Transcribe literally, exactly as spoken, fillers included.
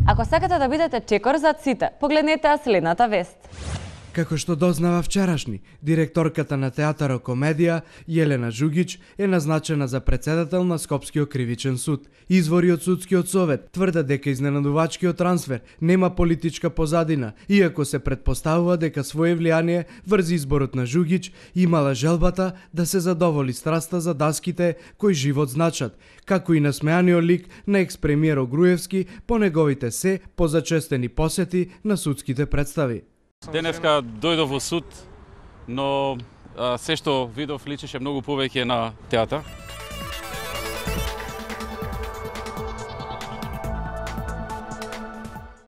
Ако сакате да бидете чекор зад сите, погледнете ја следната вест. Како што дознава вчерашни, директорката на театар Комедија, Јелена Жугич, е назначена за председател на Скопскиот кривичен суд. Извори од судскиот совет тврдат дека изненадувачкиот трансфер нема политичка позадина, иако се предпоставува дека свое влијание врз изборот на Жугич имала желбата да се задоволи страста за даските кои живот значат, како и насмеаниот лик на екс-премиер Огруевски по неговите се позачестени посети на судските представи. Денеска дојдов во суд, но а, се што видов личеше многу повеќе на театар.